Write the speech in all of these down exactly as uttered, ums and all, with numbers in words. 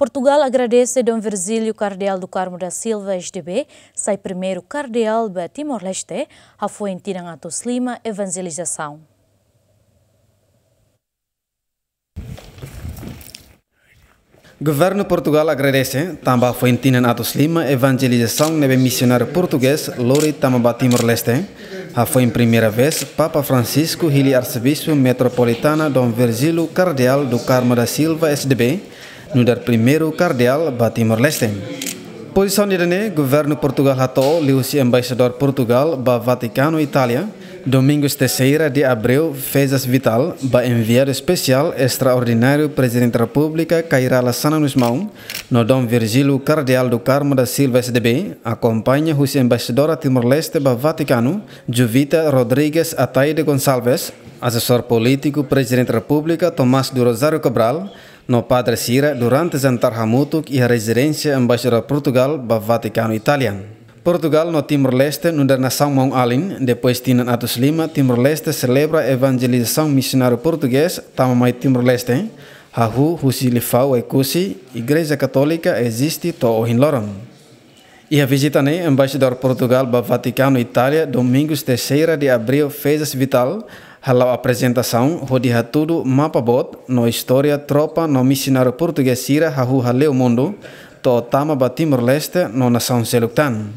Portugal agradese Dom Virgílio Kardeál do Carmo da Silva, S D B, sai primeiru kardeál ba Timor-Leste, hafoin tinan atus lima evanjelizasaun. Governu Portugal agradese tanba hafoin tinan atus lima evanjelizasaun ne'ebé misionáriu portugés lori tama ba Timor-Leste. Hafoin primeira vez Papa Francisco hili Arsebispu Metropolitana Dom Virgílio Kardeál do Carmo da Silva, S D B, nu'udar primeiru kardeál ba Timor-Leste. Pozisaun ida-ne'e governu Portugal hato'o liuhusi embaixadór Portugal ba Vatikanu, Itália, Domingos Teixeira de Abreu Freitas Vital, ba enviadu espesiál estraordináriu Prezidente Repúblika Kay Rala Xanana Gusmão, no Dom Virgílio Kardeál do Carmo da Silva, S D B, akompaña husi embaixadora Timor-Leste ba Vatikanu, Juvita Rodrigues Ataide Gonçalves, asesór polítiku Prezidente Repúblika Tomás do Rosário Cabral, no padre sira durante jantar hamutuk iha rezidénsia embaixadór Portugal ba Vatikanu, Itália. Portugal no Timor-Leste nu'udar nasaun maun-alin, depois tinan atus lima, Timor-Leste selebra evanjelizasaun misionáriu portugés tama mai Timor-Leste, hahú husi liafuan Oekusi, Igreja Katólika eziste to'o ohin loron. Iha vizita ne'e, embaixadór Portugal ba Vatikanu, Itália, Domingos Teixeira de Abreu Freitas Vital, hala'o aprezentasaun hodi hatudu mapa boot no istória tropa no misionáriu portugés sira hahú hale'u mundu, to'o tama ba Timor-Leste no nasaun seluk tan.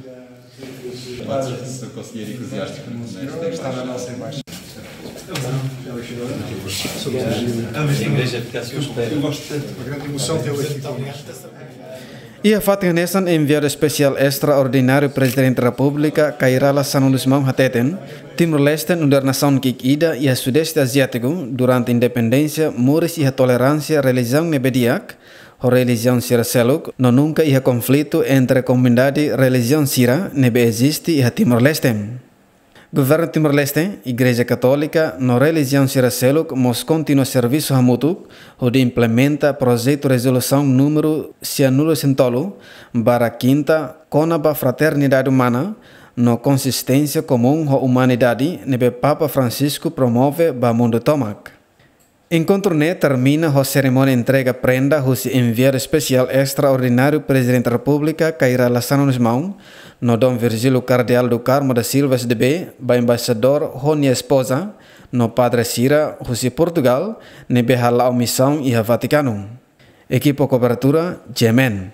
Iha fatin hanesan, enviadu espesiál estraordináriu Prezidente Repúblika Kay Rala Xanana Gusmão hateten, Timor-Leste nu'udar nasaun ki'ik ida iha Sudeste Aziátiku, durante independénsia moris iha toleránsia relijiaun ne'ebé di'ak, ho relijiaun sira seluk, no nunka iha konflitu entre komunidade relijiaun sira ne'ebé eziste iha Timor-Leste. Governu Timor-Leste, Igreja Katólika no relijiaun sira seluk mós kontinua servisu hamutuk hodi implementa projetu rezolusaun númeru sianulu resin tolu barra kinta kona-ba fraternidade umana no konsisténsia komún ho umanidade ne'ebé Papa Francisco promove ba mundu tomak. Enkontru ne'e termina ho serimónia entrega prenda husi enviadu espesiál estraordináriu Prezidente Repúblika Kay Rala Xanana Gusmão, no Dom Virgílio Kardeál do Carmo da Silva, S D B, ba embaixadór ho nia espoza, no padre sira husi Portugal ne'ebé hala'o misaun iha Vatikanu. Ekipa kobertura, G M N.